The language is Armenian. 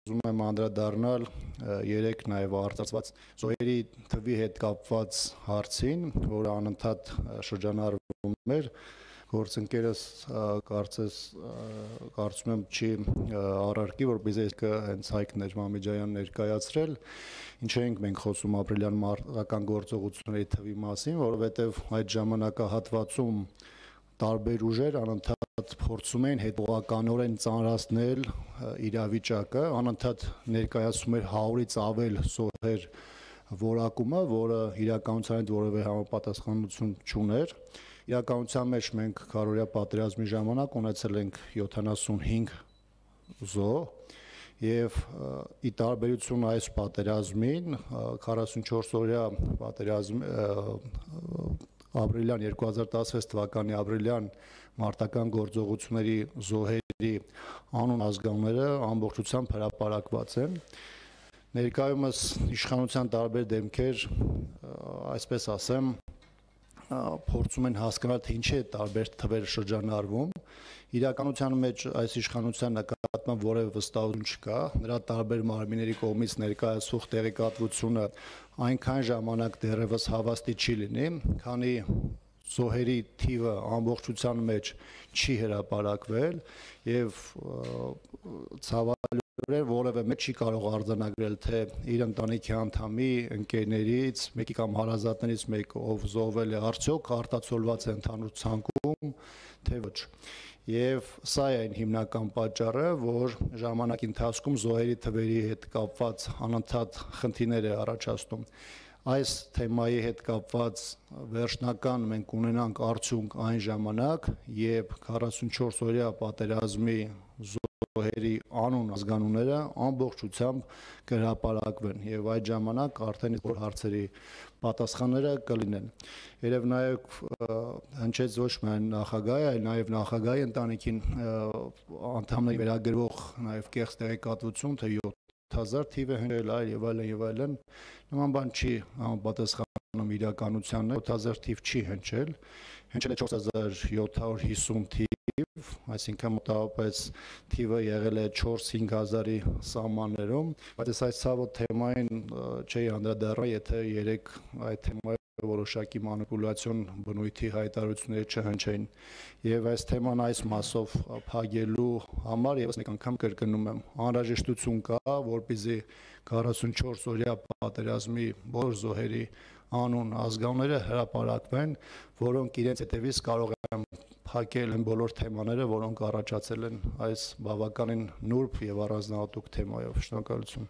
ուզում եմ անդրադառնալ երեք նաև արծարծված զոհերի թվի հետ կապված հարցին, որը անընդհատ շրջանառվում էր։ Գործընկերս կարծում եմ չի առարկի, որպեսզի հենց Հայկ Մամեջանյան ներկայացրել, ինչ էինք մենք խոսում ապրիլյան մարտական գործողությունների թվի մասին, որովհետև այդ ժամանակահատվածում տարբեր ուժեր անընդհատ փորձում էին հետողականորեն ծանրացնել իրավիճակը, անընդհատ ներկայացում էր 100-ից ավել զոհեր որակումը, որը իրականության հետ որևէ համապատասխանություն չուներ։ Իրականության մեջ մենք քարոզիա պատերազմի ժամանակ ունեցել ենք 75 զոհ եւ ի տարբերություն այս պատերազմին 44-օրյա պատերազմի ապրիլյան 2016 թվականի ապրիլյան մարտական գործողությունների զոհերի անուն ազգանունները ամբողջությամբ հրապարակված են։ Ներկայումս իշխանության տարբեր դեմքեր, այսպես ասեմ, փորձում են հասկանալ, թե ինչի է տարբեր թվեր շրջանառվում։ Իրականության մեջ այս իշխանության նկատմամբ որևէ վստահություն չկա, նրա տարբեր մարմինների կողմից ներկայացվող տեղեկատվությունը այնքան ժամանակ դեռևս հավաստի չի լինի, քանի զոհերի թիվը ամբողջության մեջ չի հրապարակվել եւ ցավալիորեն որևէ մեկ չի կարող արձանագրել, թե իր ընտանիքի անդամի, ընկերներից, մեկի կամ հարազատներից մեկը ով զոհվել է, արդյոք արտացոլված է ընդհանուր ցանկում, թե ոչ։ Եվ սա է այն հիմնական պատճառը, որ ժամանակի ընթացքում զոհերի թվերի հետ կապված անընդհատ խնդիրներ է առաջացնում։ Այս թեմայի հետ կապված վերջնական մենք ունենանք արդյունք այն ժամանակ, երբ 44-օրյա պատերազմի զոհերի անուն ազգանունները ամբողջությամբ կհրապարակվեն եւ այդ ժամանակ արդեն այդ հարցերի պատասխանները կլինեն։ Երեւ նաեւ հնչեց ոչ միայն նախագահի, այլ նաեւ նախագահի ընտանիքին անդամների վերագրվող նաեւ կեղծ տեղեկատվություն, թե 7000 թիվ է հնչել, եւ այլն, նման բան չի համապատասխանում իրականությանն, 7000 թիվ չի հնչել, հնչել է 4750 թիվ, այսինքն մոտավորապես թիվը եղել է 4-5000-ի սահմաններում, բայց այս ցավոտ թեմային չի անդրադառնա, եթե երեք այդ թեմայի որոշակի մանիպուլյացիոն բնույթի հայտարարություններ չհնչեին։ Եվ այս թեման այս մասով փակելու համար եւս մեկ անգամ կրկնում եմ, անհրաժեշտություն կա, որպեսզի 44-օրյա պատերազմի բոլոր զոհերի անուն ազգանունները հրապարակվեն, որոնք իրենց հետևից կարող են փակել այն բոլոր թեմաները, որոնք առաջացել են այս բավականին նուրբ եւ առանձնահատուկ թեմայով։ Շնորհակալություն։